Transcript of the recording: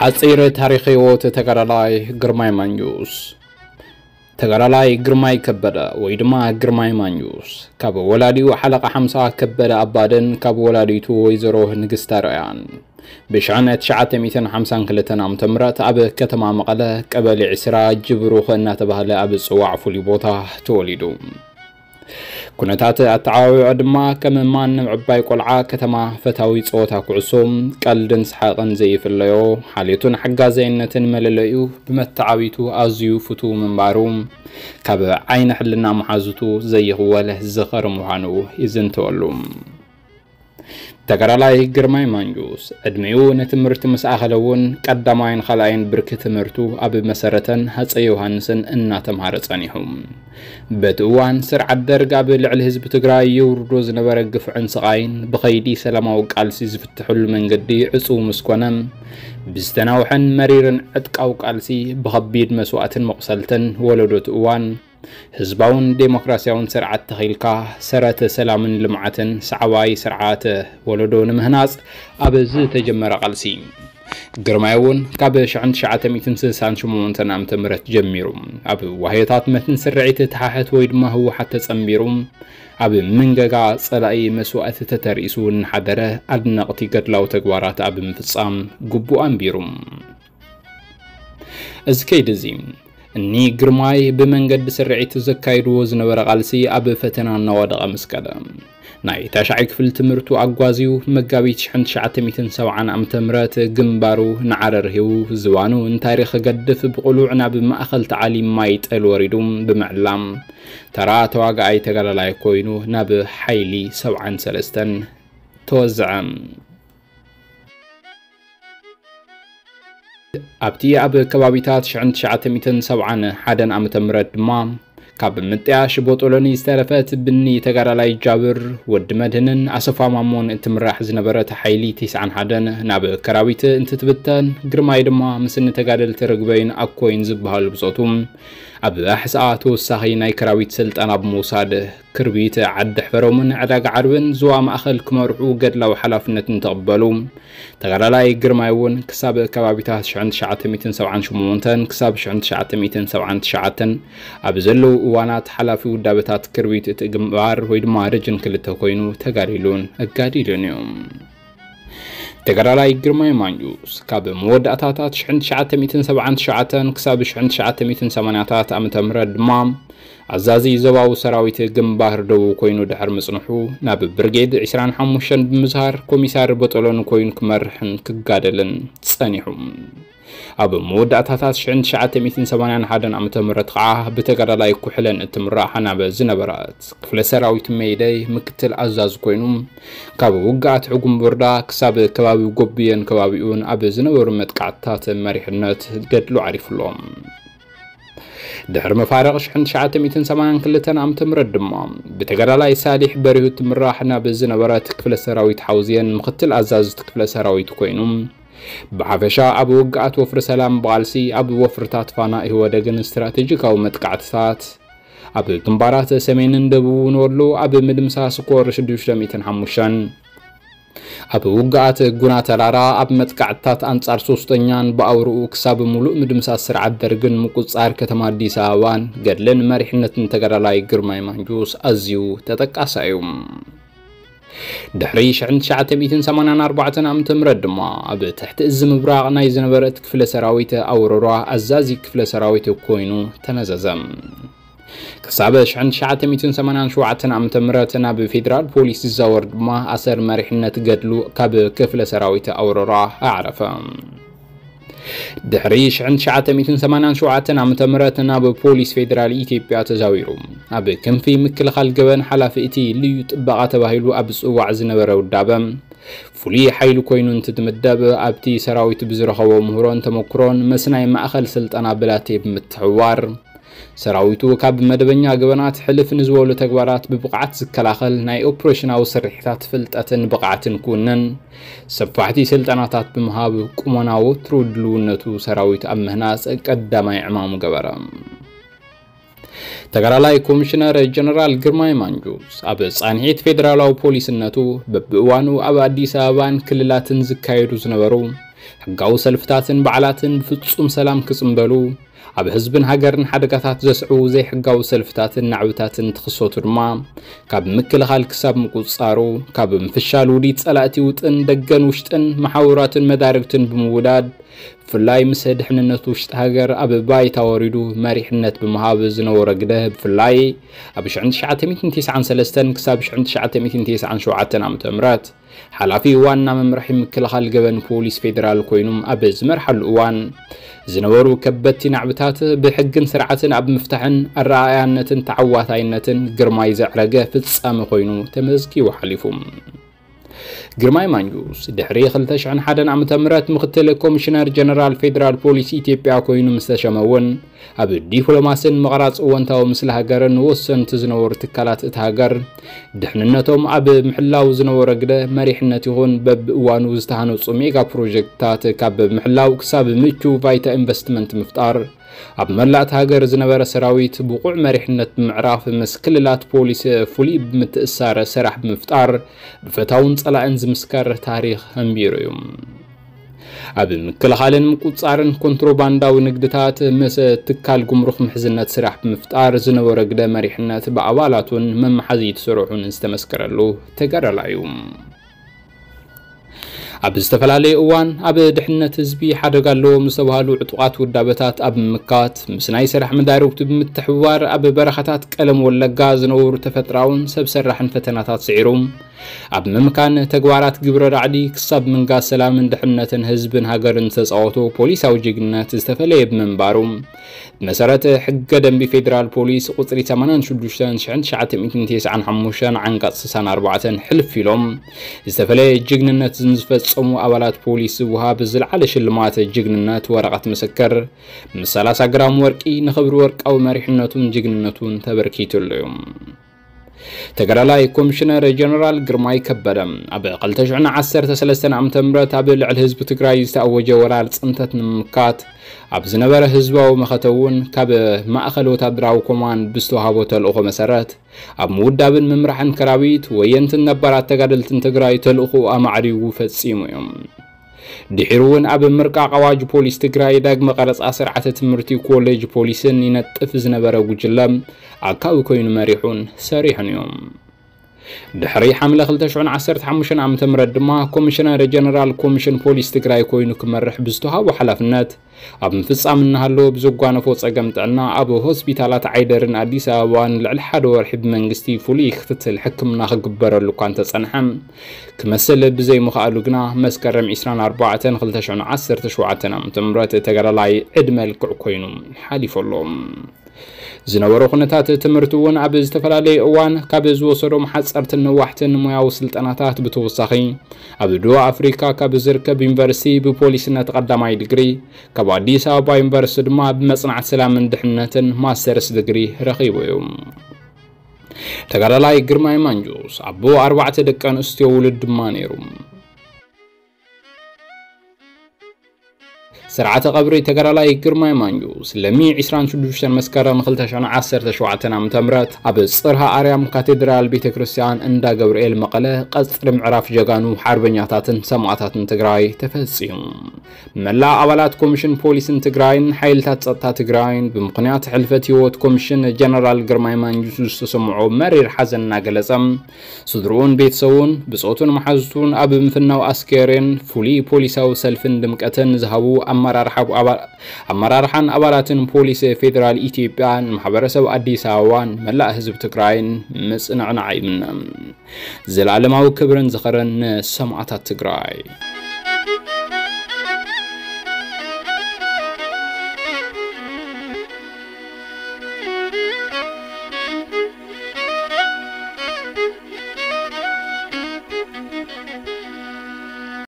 ኣጺር ታሪኽ ህይወት ተጋዳላይ ግርማይ ማንጁስ። ተጋዳላይ ግርማይ ከበደ ወይ ድማ ግርማይ ማንጁስ፣ ካብ ወላዲኡ ሓለቓ ሓምሳ ከበደ ኣባደን ካብ ወላዲቱ ወይዘሮ ንግስታ ርያን፣ ብሽሕነ ትሽዓተ ሚእትን ሓምሳን ክልተን ዓመተ ምህረት ኣብ ከተማ መቐለ ቀበሌ ዕስራ ጅብሩኽ እናተባህለ ኣብ ዝጽዋዕ ፍሉይ ቦታ ተወሊዱ። ኩነታት ኣተዓባብያኡ ድማ ከም ማንም ዕባይ ቆልዓ ከተማ፣ ፈታዊ ጸወታ ኩዕሶ፣ ቀልድን ሰሓቕን ዘይፍለዮ፣ ሓልዮትን ሓጋዛይነትን መለለዩ፣ ብመተዓቢቱ ኣዝዩ ፍቱው ምንባሩ ካብ ዓይኒ ሕልና መሓዙቱ ዘይኽወል ዝኸሪ ምዃኑ ይዝንተወሉ። ተጋዳላይ ግርማይ ማንጁስ ዕድሚኡ ንትምህርቲ ምስ ኣኸለ እውን ቀዳማይን ካልኣይን ብርኪ ትምህርቱ ኣብ መሰረተን ሃፀይ ዮሃንስን እናተምሃረ ጸኒሑ። በቲ እዋን ስርዓት ደርግ ኣብ ልዕሊ ህዝቢ ትግራይ የውርዶ ዝነበረ ግፍዕን ስቓይን ብኸይዲ ሰላማዊ ቃልሲ ዝፍትሐሉ መንገዲ ዕጹው ምስ ኮነ፣ ብዝተናውሐን መሪርን ዕጥቃዊ ቃልሲ ብኸቢድ መስዋእትን መቑሰልትን ወለዶ እቲ እዋን ህዝባውን ዴሞክራሲያውን ስርዓት ተኺልካ፣ ሰረተ ሰላምን ልምዓትን ሰዓባይ ስርዓተ ወለዶ ንምህናጽ ኣብ ዝተጀመረ ቃልሲ፣ ግርማይ እውን ካብ ሽሕን ትሽዓተ ሚእትን ስሳን ሸሞንተን ዓመተ ምህረት ጀሚሩ ኣብ ዋህዮታት መትን ስርዒት ተሓሕት ወይ ድማ ህወሓት ተጸንቢሩ፣ ኣብ መንገጋ ጸላኢ መስዋእቲ ተተርኢሱ እናሓደረ ኣድነቕቲ ገድላዊ ተግባራት ኣብ ምፍጻም ግቡእ ኣንቢሩ። እዚ ከይዲ እዚ እኒ ግርማይ ብመንገዲ ስርዒት ዘካይድዎ ዝነበረ ቃልሲ ኣብ ፈተና እናወደቐ ምስ ከደ፣ ናይ ታሽዓይ ክፍሊ ትምህርቱ ኣጓዝዩ መጋቢት ሽሕን ትሽዓተ ሚእትን ሰብዓን ዓመተ ምህረት ግንባሩ ንዓረር ሂቡ ዝባኑ እንታይ ርኢኺ ክገድፍ ብቕሉዕ ናብ ማእኸል ተዓሊም ማይ ጠል ወሪዱ ብምዕላም ተራ ተዋጋኣይ ተጋዳላይ ኮይኑ ናብ ሓይሊ ሰብዓን ሰለስተን ተወዝዐ። ኣብቲ ኣብ ከባቢታት ሽሕን ትሽዓተ ሚእትን ሰብዓን ሓደን ዓመተ ምህረት ድማ ካብ ምጥያሽ ቦጦሎኒ ዝተረፈት ብኒ ተጋዳላይ ጃብር ወዲ መድህንን ኣሰፋ ማሞን እትምራሕ ዝነበረት ሓይሊ ቲስዓን ሓደን ናብ ከራቢት እንትትብተን፣ ግርማይ ድማ ምስ እኒ ተጋደልቲ ርግበይን ኣኮይን ዝበሃሉ ብጾቱ ኣብ ኣሕስኣ ተወሳኺ ናይ ከራቢት ስልጠና ብምውሳድ ክርቢት፣ ዓዲ ሕፈሮምን ዕዳጋ ዓርብን ዞባ ማእኸል ክመርሑ ገድላዊ ሓላፍነት እንትቕበሉ፣ ተጋዳላይ ግርማይ እውን ክሳብ ከባቢታት ሽሕን ትሽዓተ ሚእትን ሰብዓን ሸሞንተን ክሳብ ሽሕን ትሽዓተ ሚእትን ሰብዓን ትሽዓተን ኣብ ዘለዉ እዋናት ሓላፊ ውዳበታት ክርቢት እቲ ግንባር ወይ ድማ ረጅን ክልተ ኮይኑ ተጋዲሉን ኣጋዲሉን እዩ። ተጋዳላይ ግርማይ ማንጁስ ካብ መወዳእታታት ሽሕን ትሽዓተ ሚእትን ሰብዓን ትሽዓተን ክሳብ ሽሕን ትሽዓተ ሚእትን ሰማንያታት ዓመተ ምህረት ድማ ኣዛዚ ዞባዊ ሰራዊት ግንባር ደቡብ ኮይኑ ድሕሪ ምጽንሑ፣ ናብ ብርጌድ ዕስራን ሓሙሽተን ብምዝሃር ኮሚሳር ቦጦሎኒ ኮይኑ ክመርሕን ክጋደልን ጸኒሑ። ኣብ መወዳእታታት ሽሕን ትሽዓተ ሚእትን ሰማንያን ሓደን ዓመተ ምህረት ኸዓ ብተጋዳላይ ኩሕለን እትምራሕ ናብ ዝነበረት ክፍለ ሰራዊት ሜይደይ ምክትል ኣዛዚ ኮይኑ፣ ካብ ውግኣት ሕጉምቡርዳ ክሳብ ከባቢ ጎብየን ከባቢኡን ኣብ ዝነበሩ መጥቃዕትታት መሪሕነት ገድሉ ዓሪፉ ኣሎ። ድሕሪ መፋርቕ ሽሕን ትሽዓተ ሚእትን ሰማንያን ክልተን ዓመተ ምህረት ድማ ብተጋዳላይ ሳሊሕ በሪሁ እትምራሕ ናብ ዝነበረት ክፍለ ሰራዊት ሓውዝየን ምክትል ኣዛዝቲ ክፍለ ሰራዊት ኮይኑ፣ ብሓፈሻ ኣብ ውግኣት ወፍሪ ሰላም ብቓልሲ፣ ኣብ ወፍርታት ፋና ኢህወደግን ስትራቴጂካዊ መጥቃዕትታት፣ ኣብ ግንባራት ሰሜንን ደቡብን ወሎ ኣብ ምድምሳስ ኮር ሽዱሽተ ሚእትን ሓሙሽተን፣ ኣብ ውግኣት ጉና ተራራ፣ ኣብ መጥቃዕትታት ኣንጻር ሶስተኛን ብኣውርኡ ክሳብ ሙሉእ ምድምሳስ ስርዓት ደርግን ምቁጽጻር ከተማ ኣዲስ ኣበባን ገድልን መሪሕነትን ተጋዳላይ ግርማይ ማንጁስ ኣዝዩ ተጠቃሳይ እዩ። ድሕሪ ሽሕን ትሽዓተ ሚእትን ሰማንያን ኣርባዕተን ዓመተ ምህረት ድማ ኣብ ትሕቲ እዚ ምብራቕ ናይ ዝነበረት ክፍለ ሰራዊት ኣውሮራ ኣዛዚ ክፍለ ሰራዊት ኮይኑ ተነዘዘ። ክሳብ ሽሕን ትሽዓተ ሚእትን ሰማንያን ሸውዓተን ዓመተ ምህረት ናብ ፌደራል ፖሊስ ዝዛወር ድማ ኣሰር መሪሕነት ገድሉ ካብ ክፍለ ሰራዊት ኣውሮራ ኣዕረፈ። ድሕሪ ሽሕን ትሽዓተ ሚእትን ሰማንያን ሸውዓተን ዓመተ ምህረት ናብ ፖሊስ ፌደራል ኢትዮጵያ ተዛዊሩ፣ ኣብ ክንፊ ምክልኻል ገበን ሓላፊ እቲ ልዩ ጥበቓ ተባሂሉ ኣብ ዝጽዋዕ ዝነበረ ውዳበ ፍሉይ ሓይሊ ኮይኑ እንትትምደብ፣ ኣብቲ ሰራዊት ብዝረኸቦ ምህሮን ተመክሮን ምስ ናይ ማእኸል ስልጠና ብላቴ ብምትሕውዋር፣ ሰራዊቱ ካብ መደበኛ ገበናት ሕልፍ ንዝበሉ ተግባራት ብብቕዓት ዝከላኸል፣ ናይ ኦፕሬሽናዊ ስርሒታት ፍልጠትን ብቕዓትን ክውንን፣ ሰፋሕቲ ስልጠናታት ብምሃብ፣ ቁመና ወትሩ ድልውነቱ ሰራዊት ኣብ ምህናጽ ቀዳማይ ዕማሙ ገበረ። ተጋዳላይ ኮሚሽነር ጀነራል ግርማይ ማንጁስ፣ ኣብ ጻንሒት ፌደራላዊ ፖሊስነቱ፣ በብእዋኑ ኣብ ኣዲስ ኣበባን ክልላትን ዝካየዱ ዝነበሩ ሕጋዊ ሰልፍታትን በዓላትን ብፍጹም ሰላም ክጽንበሉ፣ ኣብ ህዝብን ሃገርን ሓደጋታት ዘስዕቡ ዘይሕጋዊ ሰልፍታትን ናዕብታትን ትኽሰቱ ድማ፣ ካብ ምክልኻል ክሳብ ምቁጽጻሩ፣ ካብ ምፍሻል ውዲት ጸላእቲ ውጥን ደገን ውሽጥን መሓውራትን መዳርግትን ብምውዳድ፣ ብፍላይ ምስ ድሕንነት ውሽጢ ሃገር ኣብ ባይታ ወሪዱ መሪሕነት ብምሃብ ዝነበሮ ግደ፣ ብፍላይ ኣብ ሽሕን ትሽዓተ ሚእትን ተስዓን ሰለስተን ክሳብ ሽሕን ትሽዓተ ሚእትን ተስዓን ሸውዓተን ዓመተ ምህረት ሓላፊ ዋና መምርሒ ምክልኻል ገበን ፖሊስ ፌደራል ኮይኑም ኣብ ዝመርሓሉ እዋን ዝነበሩ ከበድቲ ናዕብታት ብሕግን ስርዓትን ኣብ ምፍታሕን ኣረኣእያነትን ተዓዋታይነትን ግርማይ ዘዕረገ ፍጻመ ኮይኑ ተመዝጊቡ ሓሊፉ። ግርማይ ማንጁስ ድሕሪ ክልተ ሽሕን ሓደን ዓመተ ምህረት ምክትል ኮሚሽነር ጀነራል ፌደራል ፖሊስ ኢትዮጵያ ኮይኑ ምስ ተሸመ እውን ኣብ ዲፕሎማስን ምቕራጽ እወንታዊ ምስሊ ሃገርን ወሰንቲ ዝነበሩ ትካላት እቲ ሃገር ድሕንነቶም ኣብ ምሕላው ዝነበሮ ግደ መሪሕነት ይኹን በብእዋኑ ዝተሃነፁ ሜጋ ፕሮጀክትታት ካብ ምሕላው ክሳብ ምቹ ባይታ ኢንቨስትመንት ምፍጣር ኣብ መላእቲ ሃገር ዝነበረ ሰራዊት ብቑዕ መሪሕነት ብምዕራፍ ምስ ክልላት ፖሊስ ፍሉይ ብምትእሳር ስራሕ ብምፍጣር ብፈታውን ጸላእን ዝምስከር ታሪኽ ኣንቢሩ እዩ። ኣብ ምክልኻልን ምቁጻርን ኮንትሮባንዳዊ ንግድታት ምስ ትካል ጉምሩክ ምሕዝነት ስራሕ ብምፍጣር ዝነበረ ግደ መሪሕነት ብኣባላቱን መመሓዚት ስርሑን ዝተመስከረሉ ተጋዳላይ እዩ። ኣብ ዝተፈላለዩ እዋን ኣብ ድሕነት ህዝቢ ሓደጋ ኣለዎም ዝተባህሉ ዕጡቓት ውዳበታት ኣብ ምምካት ምስ ናይ ስራሕ መዳርብቱ ብምትሕብባር ኣብ በረኻታት ቀለም ወለጋ ዝነበሩ ተፈጥራውን ሰብ ሰራሕን ፈተናታት ስዒሩ ኣብ ምምካን ተግባራት ግብረ ራዕዲ ክሳብ ምንጋስ ሰላምን ድሕነትን ህዝብን ሃገርን ዝተጻወቶ ፖሊሳዊ ጅግነት ዝተፈለየ ብምንባሩ ብመሰረት ሕገ ደንቢ ፌደራል ፖሊስ ቁጽሪ ሰማንያን ሽዱሽተን ሽሕን ትሽዓተ ሚእትን ተስዓን ሓሙሽተን ዓንቀጽ ስሳን ኣርባዕተን ሕልፍ ኢሎም ዝተፈለየ ጅግንነት ንዝፈጸሙ ኣባላት ፖሊስ ዝወሃብ ዝለዓለ ሽልማት ጅግንነት ወረቐት ምስክር ምስ ሰላሳ ግራም ወርቂ ንኽብሪ ወርቃዊ መሪሕነቱን ጅግንነቱን ተበርኪቱሉ እዩ። ተጋዳላይ ኮሚሽነር ጀነራል ግርማይ ከበደ ኣብ ክልተ ሽሕን ዓሰርተ ሰለስተን ዓመተ ምህረት ኣብ ልዕሊ ህዝቢ ትግራይ ዝተኣወጀ ወራር ጽንተት ንምምካት ኣብ ዝነበረ ህዝባዊ መኸተ እውን ካብ ማእኸል ወታደራዊ ኮማንድ ብዝተዋሃቦ ተልእኾ መሰረት ኣብ ምውዳብን ምምራሕን ከራቢት ወየንትን ነባራት ተጋደልትን ትግራይ ተልእኾ ኣማዕሪጉ ፈጺሙ እዩ። ድሒሩ እውን ኣብ ምርቃቕ ኣዋጅ ፖሊስ ትግራይ ዳግመ ቀረፃ ስርዓተ ትምህርቲ ኮሌጅ ፖሊስን ይነጥፍ ዝነበረ ጉጅለ ኣካዊ ኮይኑ መሪሑን ሰሪሑን እዩ። ድሕሪ ሓምለ ክልተ ሽሕን ዓሰርተ ሓሙሽተን ዓመተ ምህረት ድማ ኮሚሽነር ጀነራል ኮሚሽን ፖሊስ ትግራይ ኮይኑ ክመርሕ ብዝተዋሃቦ ሓላፍነት ኣብ ምፍጻም እናሃለወ ብዘጓነፎ ጸገም ጥዕና ኣብ ሆስፒታላት ዓይደርን ኣዲስ ኣበባን ልዕሊ ሓደ ወርሒ ብመንግስቲ ፍሉይ ክትትል ሕክምና ክግበረሉ እኳ እንተጸንሐ ክመስል ብዘይምኽኣሉ ግና መስከረም ዕስራን ኣርባዕተን ክልተ ሽሕን ዓሰርተ ሸውዓተን ዓመተ ምህረት ተጋዳላይ ዕድመ ልክዕ ኮይኑ ሓሊፉ ኣሎ። ዝነበሮ ኩነታት ትምህርቲ እውን ኣብ ዝተፈላለየ እዋን ካብ ዝወሰዶም ሓፀርትን ነዋሕትን ሞያዊ ስልጠናታት ብተወሳኺ ኣብ ደቡብ ኣፍሪካ ካብ ዝርከብ ዩኒቨርሲቲ ብፖሊስነት ቀዳማይ ዲግሪ ካብ ኣዲስ ኣበባ ዩኒቨርሲቲ ድማ ብመፅናዕቲ ሰላምን ድሕነትን ማስተርስ ዲግሪ ረኺቡ እዩ። ተጋዳላይ ግርማይ ማንጁስ ኣቦ ኣርባዕተ ደቂ ኣንስትዮ ውሉድ ድማ ነይሩ። ስርዓተ ቀብሪ ተጋዳላይ ግርማይ ማንጁስ ለሚ ዕስራን ሽዱሽተን መስከረም ክልተ ሽሕን ዓሰርተ ሸውዓተን ዓመተ ምህረት ኣብ ጽርሃ ኣርያም ካቴድራል ቤተ ክርስቲያን እንዳ ገብርኤል መቐለ ቀጽሪ ምዕራፍ ጀጋኑ ሓርበኛታትን ሰማእታትን ትግራይ ተፈጺሙ። መላእ ኣባላት ኮሚሽን ፖሊስን ትግራይን ሓይልታት ጸጥታ ትግራይን ብምኽንያት ሕልፈት ህይወት ኮሚሽን ጀነራል ግርማይ ማንጁስ ዝተሰምዖ መሪር ሓዘን እናገለጸ ስድርኡን ቤተሰቡን ብጾቱን መሓዙቱን ኣብ ምፍናው ኣስከሬን ፍሉይ ፖሊሳዊ ሰልፍን ድምቀትን ዝሃቡ ኣመራርሓ ኣባ- ኣመራርሓን ኣባላትን ፖሊስ ፌዴራል ኢትዮጵያ ንማሕበረሰብ ኣዲስ ኣበባን መላእ ህዝቢ ትግራይን ምጽንዕናዕ ይምነ። ዘላለማዊ ክብርን ዝኸርን ንሰማእታት ትግራይ።